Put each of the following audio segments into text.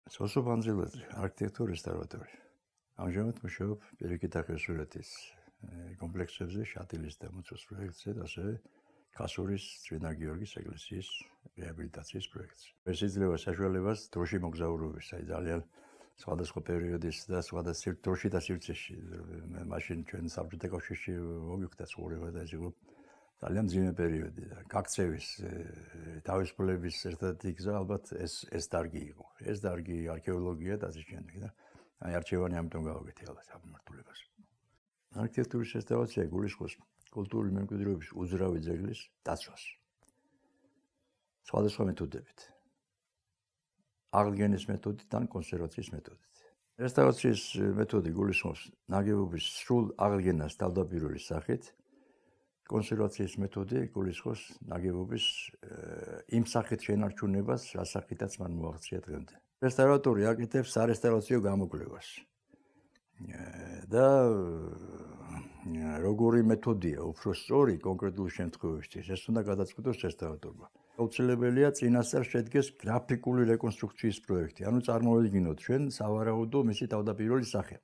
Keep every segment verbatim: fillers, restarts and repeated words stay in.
სოსო ბანძილაძე, არქიტექტურის რესტავრატორი. ამჟამად მუშაობ პირიქით ახალსურეთის კომპლექსებზე, შატილის და მუცოს პროექტზე და ასევე ქასურის წმინდა გიორგის ეკლესიის რეაბილიტაციის პროექტზე. ეს იძლევა საშუალებას დროში მოგზაურობის, აი ძალიან სხვადასხვა პერიოდის და სხვადასხვა დროში და სივრცეში. მაშინ ჩვენ საბჭოთა კავშირში მოგიხვდა ცხოვრება და ეს იყო ძალიან ძიმე პერიოდი და გაქცევის თავისუფლების ერთ-ერთი გზა ალბათ ეს ეს დარგი იყო. ეს დარგი არქეოლოგია და ასე შემდეგ და აი არჩევანი ამიტომ გავაკეთე ალბათ სამმართველობას. არქიტექტურის რესტავრაცია გულისხმობს კულტურული მემკვიდრეობის უძრავი ძეგლის დაცვას. სხვადასხვა მეთოდებით. აღდგენის მეთოდით ან კონსერვაციის მეთოდით. რესტავრაციის მეთოდი გულისხმობს ნაგებობის სრულ აღდგენას თავდაპირველი სახით. კონსერვაციის მეთოდი გულისხმობს ნაგებობის იმ სახით შენარჩუნებას, რა სახითაც მან მოაღწია დღემდე. რესტავრატორი აკეთებს სარესტავრაციო გამოკვლევას. და როგორი მეთოდია უფრო სწორი კონკრეტულ შემთხვევებში, ეს უნდა გადაწყვიტოს რესტავრატორმა. აუცილებელია წინასწარ შედგეს გრაფიკული რეკონსტრუქციის პროექტი, ანუ წარმოვიდგინოთ ჩვენ სავარაუდო მისი თავდაპირველი სახე.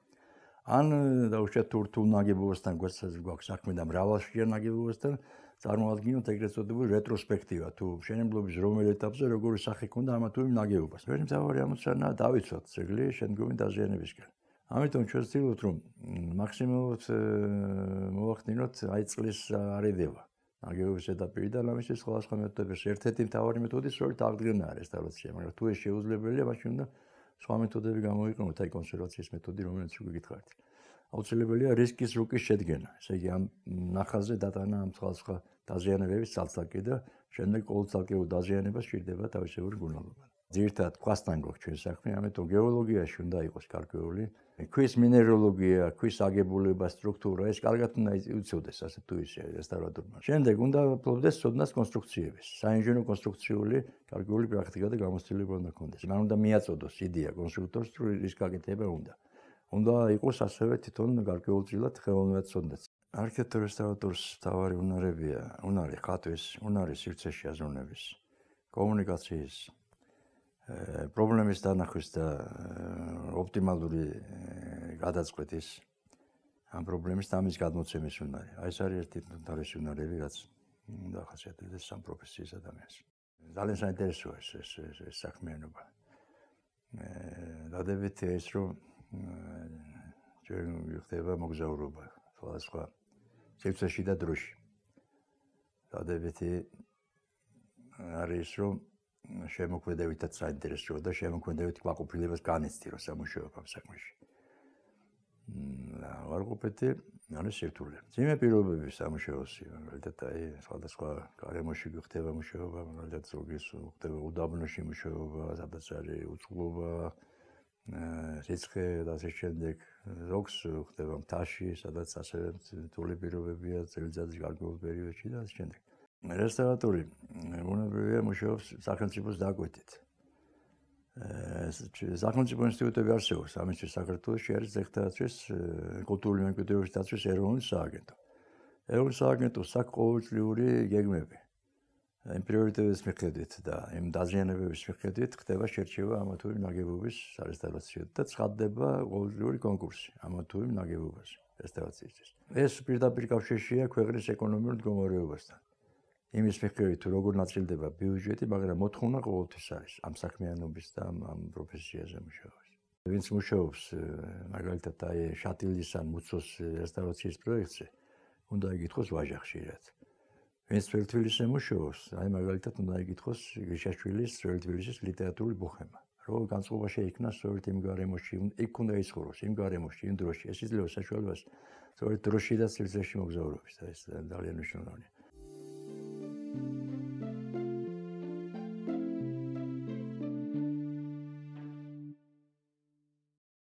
ან დაუშვათ თურთულ ნაგებობასთან გვაქვს საქმე და მრავალშია ნაგებობასთან წარმოადგინოთ ეგრეთ წოდებული რეტროსპექტივა თუ მშენებლობის რომელ ეტაპზე როგორი სახე ჰქონდა ამა თუ იმ ნაგებობას. ჩვენი მთავარი ამოცანაა დავიცვათ ძეგლი შემდგომი დაზიანებისკენ. ამიტომ ჩვენ ვცდილობთ რომ მაქსიმალურად მოვახდინოთ აი წყლის არიდება ნაგებობის ეტაპიდან ამისთვის სხვადასხვა მეთოდებს ერთ-ერთი მთავარი მეთოდი სწორედ აღდგენაა რესტავრაცია, მაგრამ თუ ეს შეუძლებელია მაშინ უნდა სხვა მეთოდები გამოვიყენოთ, აი კონსერვაციის მეთოდი, რომელიც უკვე გითხარით. აუცილებელია რისკის რუკის შედგენა. ესე იგი ამ ნახაზზე დატანა ამ სხვადასხვა დაზიანებების ცალ-ცალკე და შემდეგ ყოველწალკეულ დაზიანებას სჭირდება თავისებური მკურნალობა. ძირითადად ქვასთან გვაქვს ჩვენ საქმე, ამიტომ გეოლოგიაში უნდა იყოს გარკვეული ქვის მინეროლოგია, ქვის აგებულება, სტრუქტურა, ეს კარგად უნდა იცოდეს ასე თუ ისე რესტავრატორმა. შემდეგ უნდა ფლობდეს ცოდნას კონსტრუქციების, საინჟინრო კონსტრუქციული გარკვეული პრაქტიკა და გამოცდილება უნდა ჰქონდეს. მან უნდა მიაწოდოს იდეა კონსტრუქტორს, თუ რის გაკეთება უნდა. უნდა იყოს ასევე თვითონ გარკვეულწილად ხელოვნურად ცოდნაც. არქიტექტორ რესტავრატორს მთავარი უნარებია, უნარი ხატვის, უნარი სივრცეში აზროვნების, კომუნიკაციის პრობლემის დანახვის და ოპტიმალური გადაწყვეტის ამ პრობლემის და ამის გადმოცემის უნარი. აი ეს არის ერთი თვალის უნარები, რაც უნდა ახასიათებდეს სამ პროფესიის ადამიანს. ძალიან საინტერესოა ეს ეს ეს საქმიანობა. დადებითია ის, რომ ჩვენ ვიხდება მოგზაურობა სხვადასხვა სივრცეში და დროში. დადებითი არის, რომ შემოქმედებითაც საინტერესოა და შემოქმედებით კმაყოფილებას განიცდირო სამუშაოებ ამ საქმეში. ვარყოფეთი არის სირთულე. ძიმე პირობები სამუშაოსი, მაგალითად აი სხვადასხვა გარემოში ხდება მუშაობა, მაგალითად ზოგის ხდება უდაბნოში მუშაობა, სადაც არის უწყლობა, რიცხე და ასე შემდეგ. ზოგს ხდება მთაში, სადაც ასევე რთული პირობებია წელიწადის გარკვეულ პერიოდში და ასე შემდეგ. რესტავრატორი ბუნებრივია მუშაობს სახელმწიფოს დაკვეთით. სახელმწიფო ინსტიტუტები არსებობს, ამისთვის საქართველოში არის ძეგლთაცვის კულტურული მემკვიდრეობის დაცვის ეროვნული სააგენტო. ეროვნული სააგენტოს აქვს ყოველწლიური გეგმები. იმ პრიორიტეტების მიხედვით და იმ დაზიანებების მიხედვით ხდება შერჩევა ამა თუ იმ ნაგებობის სარესტავრაციო და ცხადდება ყოველწლიური კონკურსი ამა თუ იმ ნაგებობას რესტავრაციისთვის. ეს პირდაპირ კავშირშია ქვეყნის ეკონომიურ მდგომარეობასთან. იმის მიხედვით თუ როგორ ნაწილდება ბიუჯეტი, მაგრამ მოთხოვნა ყოველთვის არის ამ საქმიანობის და ამ პროფესიაზე მუშაობის. ვინც მუშაობს მაგალითად აი შატილის ან მუცოს რესტავრაციის პროექტზე, უნდა იკითხოს ვაჟა ხშირად. ვინც თბილისში მუშაობს, აი მაგალითად უნდა იკითხოს გრიშაშვილის თბილისის ლიტერატურული ბუხემა. რომ განწყობა შეიქმნა სწორედ იმ გარემოში, იქ უნდა იცხოვროს იმ გარემოში, იმ დროში. ეს იძლევა საშუალებას სწორედ დროში და სივრცეში მოგზაურობის და ეს ძალიან მნიშვნელოვანია. Thank you.